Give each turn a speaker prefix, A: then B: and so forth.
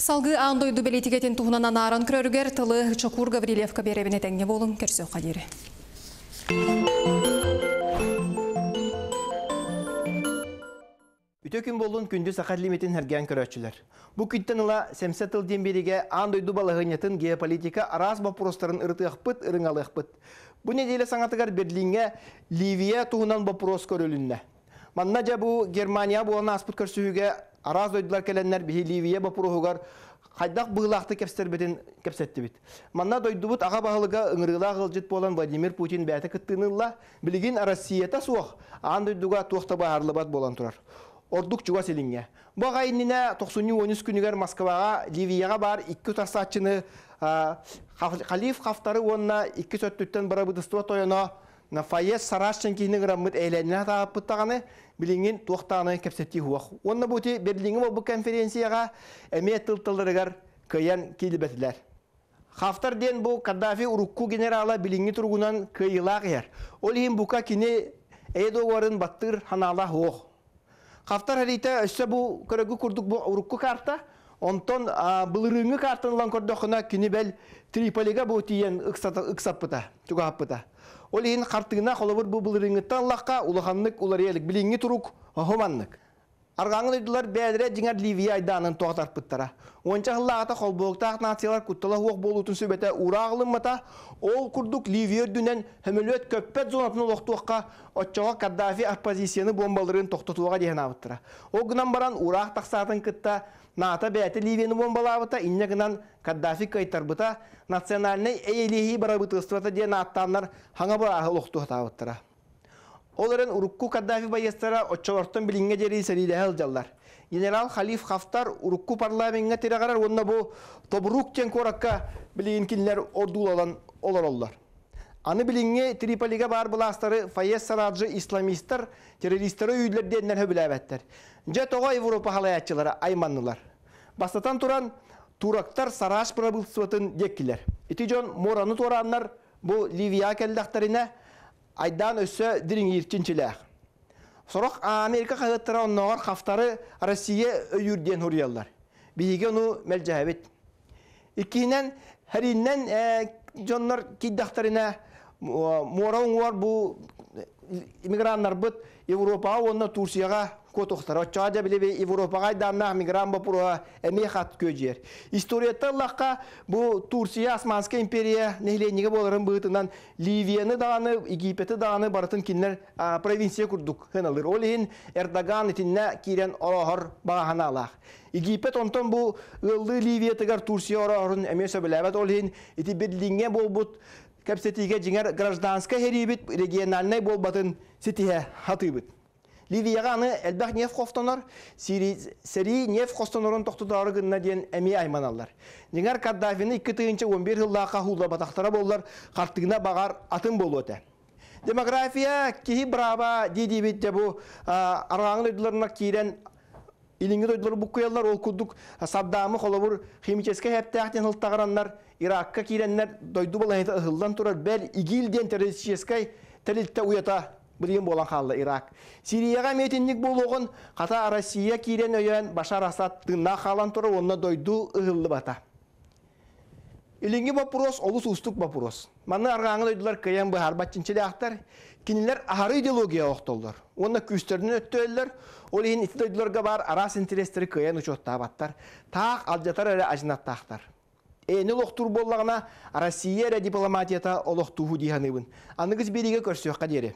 A: Салгыы аан дойду бэлиитикэтин туһунан анааран көрөрүгэр тылы Чокуур Гаврильевка биэрэбин. Этэҥҥэ буолуҥ, көрсүөххэ диэри.
B: Үтүө күн буоллун, күндү саха лимитин сэргээн көрөөччүлэр. Бу күнтэн ыла Сэмсэ тыл диэн биэриигэ аан дойду балаһыанньатын, геополитика араас боппуруостарын ырытыахпыт, ырыҥалыахпыт. Бу нэдиэлэ саҥатыгар Берлиҥҥэ Ливия туһунан боппуруос көрүлүннэ. Манна дьэ бу Германия буолан ааспыт көрсүһүүгэ араас дойдулар кэлэннэр биһи Ливия боппуруоһугар хайдах быһыылаахтык кэпсэтэрбитин кэпсэттибит. Манна дойдубут аҕа баһылыга ыҥырыылаах ыалдьыт буолан Владимир Путин бэйэтэ кыттыыны ылла. Билигин Россията суох, аан дойдуга туох да быһаарыллыбат буолан турар. Ордук чугас илиҥҥэ. Бу аҕа иннинэ тохсунньу 13 күнүгэр Москваҕа Ливияҕа баар икки утарсааччыны Халиф Хафтары уонна икки өттүттэн бырабыытыстыба тойоно Фаез Сараш киһини ыҥыраммыт эйэлэннэ сатаабыппыт даҕаны, билиҥҥин туох даҕаны кэпсэтии суох. Уонна бу ити Берлиҥҥэ буолбут конференцияҕа эмиэ тыл-тылларыгар кыайан киирбэтилэр. Хафтар диэн бу Каддафи урукку генерала билиҥҥи туругунан кыайыылаах иһэр. Ол иһин бука кини эйэ договорын баттыыр ханаала суох. Хафтар хэриитэ өссө бу көрөгү курдук бу урукку карта, онтон былырыыҥҥы картаны ылан көрдөххүнэ кини бэл Триполига бу тиийэн ыксаппыта, чугаһаппыта. Ол иһин хартыына холобур бу былырыыҥҥыттан ыллахха улаханнык уларыйа илик. Билиҥҥи турук оһо маннык. Арҕааҥы дойдулар бэйэлэрэ дьиҥэр Ливия айдаанын тоҕо тарпыттара. Уонча сыллааҕыта холбоһуктаах нациялар куттала суох буолуутун сүбэтэ уураах ылыммата, ол курдук Ливия үрдүнэн сөмөлүөт көппөт зонатын олохтуохха, оччоҕо Каддафи оппозицияны буомбаларын тохтотуоҕа диэн аабыттара. Ол гынан баран уураах тахсаатын кытта НАТО бэйэтэ Ливияны буомбалаабыта, инньэ гынан Каддафи кыайтарбыта, национальнай эйэлиһии барабытыылствота диэн ааттааннар хаҥа бырааһы олохтуохтаабыттара. Ол эрэн урукку Каддафи байыастара оччолортон билиҥҥэ диэри сэриилэһэ сылдьаллар. Генерал Халиф Хафтар урукку парламеҥҥа тирэҕирэр уонна бу Тобрук диэн куоракка билигин кинилэр ордууланан олороллор. Аны билиҥҥи Триполига баар былаастары Фаез Сараджи исламистар террористары өйүүллэр диэннэр сөбүлээбэттэр. Дьэ тоҕо Европа халайааччылара айманнылар? Бастатан туран, турактар Сараш правительствотын диэккилэр. Ити дьон муораны туорааннар бу Ливияҕа кэллэхтэринэ айдаан өссө дириҥиир чинчилээх. Сорох Америка хаһыаттара оннооҕор Хафтары Россия өйүүр диэн суруйаллар. Биһиги ону мэлдьэһэбит. Иккиһинэн, хэрииннэн дьоннор киирдэхтэринэ муора уҥуор бу иммиграннарбыт Европаҕа уонна Турцияҕа куотуохтара. Оччоҕо дьэ били Европаҕа айдааннаах мигрант боппуруоһа эмиэ хат күөдьүйэр. Историяттан ыллахха, бу Турция Османскай империя нэһилиэнньигэ буоларын быһыытынан Ливияны даҕаны, Египети даҕаны барытын кинилэр провинция курдук сыаналыыр. Ол иһин Эрдоган итиннэ киирэн орооһор баҕа санаалаах. Египет онтон бу ыаллыы Ливиятыгар Турция орооһорун эмиэ сөбүлээбэт. Ол иһин ити Берлиҥҥэ буолбут кэпсэтиигэ дьиҥэр гражданскай сэриибит региональнай буолбатын ситиһэ сатыыбыт. Ливияҕа аны элбэх нефть хостонор, сэрии нефть хостонорун тохтотоору гынна диэн эмиэ айманаллар. Дьиҥэр Каддафины 2011 сыллаахха хууллабатахтара буоллар, хартыына баҕар атын буолуо этэ. Демография киһи бырааба дии-диибит дьэ бу арҕааҥы дойдуларынан киирэн илиҥҥи дойдулары буккуйаллар, ол курдук Саддамы холобур химическэй хэптээх диэн сылтаҕыраннар Иракка киирэннэр дойду балаһыта ыһыллан турар бэл ИГИЛ диэн террористическай тэрилтэ уйата билигин буолан хаалла Ирак. Сирияҕа эмиэ итинник буолуоҕун, хата Россия киирэн өйөөн Башар Асад тыыннаах хаалан турар уонна дойду ыһыллыбата. Илиҥҥи боппуруос олус уустук боппуруос. Манна арҕааҥы дойдулар кыайан быһаарбат чинчилээхтэр. Кинилэр аһары идеология охтоллор уонна күүстэринэн өттөөллөр. Ол иһин ити дойдуларга баар араас интэриэстэри кыайан учуоттаабаттар. Таах алдьатар эрэ адьынаттаахтар. Эни олохтуур буоллаҕына, Россия эрэ дипломатията олохтууһу дии саныыбын. Аныгыс биэриигэ көрсүөххэ диэри.